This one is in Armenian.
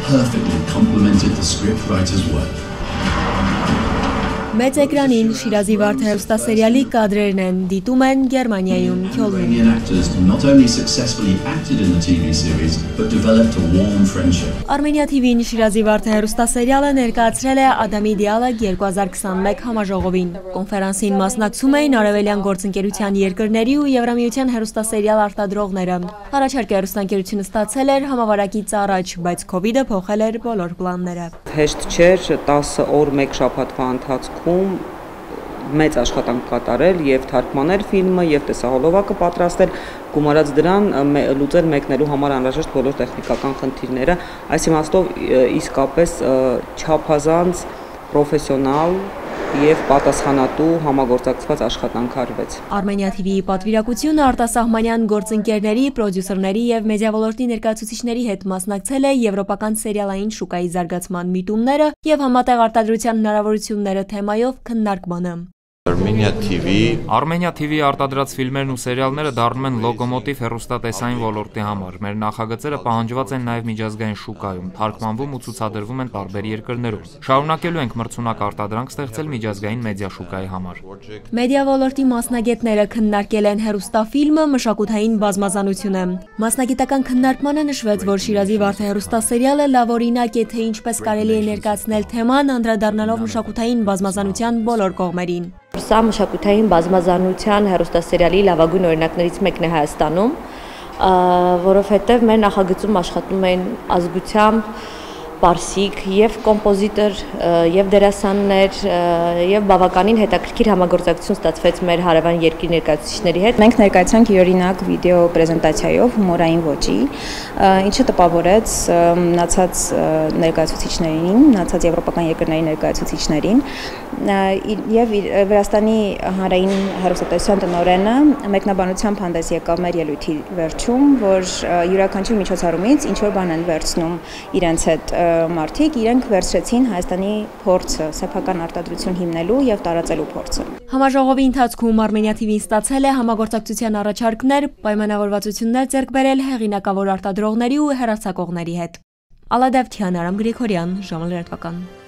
perfectly complemented the scriptwriter's work. Մեծ էկրանին Շիրազի Վարդը հեռուստասերիալի կադրերն են դիտում են Գերմանիայում Քյոլնում։ Iranian actors not only successfully acted in the TV series, but developed a warm friendship. Armenia TV-ին Շիրազի Վարդը հեռուստասերիալը ներկայացրել է Ադամի դիալոգ 2021 համաժողովին։ Կոնֆերանսին մասնակցում էին արևելյան գործընկերության երկրների ու Եվրամիության հեռուստասերիալ արտադրողները։ Առաջարկը հեռուստաընկերությունը ստացել էր համավարակից առաջ, բայց Քովիդը փոխել էր բոլոր պլանները։ Հեշտ չէր 10 օր մեկ շաբաթվա ընթացքում մեծ աշխատանք կատարել եւ թարգմանել ֆիլմը եւ տեսահոլովակը պատրաստել, գումարած դրան լուծել մեկնելու համար անհրաժեշտ բոլոր տեխնիկական խնդիրները, այս իմաստով իսկապես չափազանց պրոֆեսիոնալ եւ պատասխանատու համագործակցված աշխատանք արվեց։ Armenia TV-ի պատվիրակությունը արտասահմանյան գործընկերների, պրոդյուսերների եւ մեդիա ոլորտի ներկայացուցիչների հետ մասնակցել է եվրոպական սերիալային շուկայի զարգացման միտումները եւ համատեղ արտադրության հնարավորությունները թեմայով քննարկմանը։ Armenia TV-ի արտադրած ֆիլմերն ու սերիալները դառնում են լոգոմոտիվ հեռուստատեսային ոլորտի համար։ Մեր նախագծերը պահանջված են նաև միջազգային շուկայում, թարգմանվում ու ցուցադրվում են տարբեր երկրներում։ Շարունակելու ենք մրցունակ արտադրանք ստեղծել միջազգային մեդիա շուկայի համար։ Մեդիա ոլորտի մասնագետները քննարկել են հեռուստաֆիլմը մշակութային բազմազանությունը։ Մասնագիտական քննարկմանը նշվեց, որ Շիրազի Վարդը հեռուստասերիալը լավ օրինակ է, թե ինչպես կարելի է ներկայացնել թեման, անդրադառնալով մշակութային բազմազանության բոլոր կողմերին։ Սա մշակութային բազմազանության հեռուստասերիալի լավագույն օրինակներից մեկն է Հայաստանում, որովհետև մեր նախագծում աշխատում են ազգությամբ պարսիկ եւ կոմպոզիտոր եւ դերասաններ եւ բավականին հետաքրքիր համագործակցություն ստացվեց մեր հարևան երկրի ներկայացուցիչների հետ։ Մենք ներկայացանք յուրօրինակ վիդեո պրեզենտացիայով հումորային ոճի, ինչը տպավորեց մնացած ներկայացուցիչներին, մնացած եվրոպական երկրների ներկայացուցիչներին եւ Վրաստանի հանրային հեռուստատեսության տնօրենը մեկնաբանությամբ հանդես եկավ մեր ելույթի վերջում, որ յուրաքանչյուր միջոցառումից ինչ որ բան են վերցնում իրենց հետ մարդիկ, իրենք վերցրեցին Հայաստանի փորձը, սեփական արտադրություն հիմնելու եւ տարածելու փորձը։ Համաժողովի ընթացքում Armenia TV-ն ստացել է համագործակցության առաջարկներ, պայմանավորվածություններ ձեռք բերել հեղինակավոր արտադրողների ու հեռարձակողների հետ։ Ալադավթյան, Արամ Գրիգորյան, ժամը լրատվական։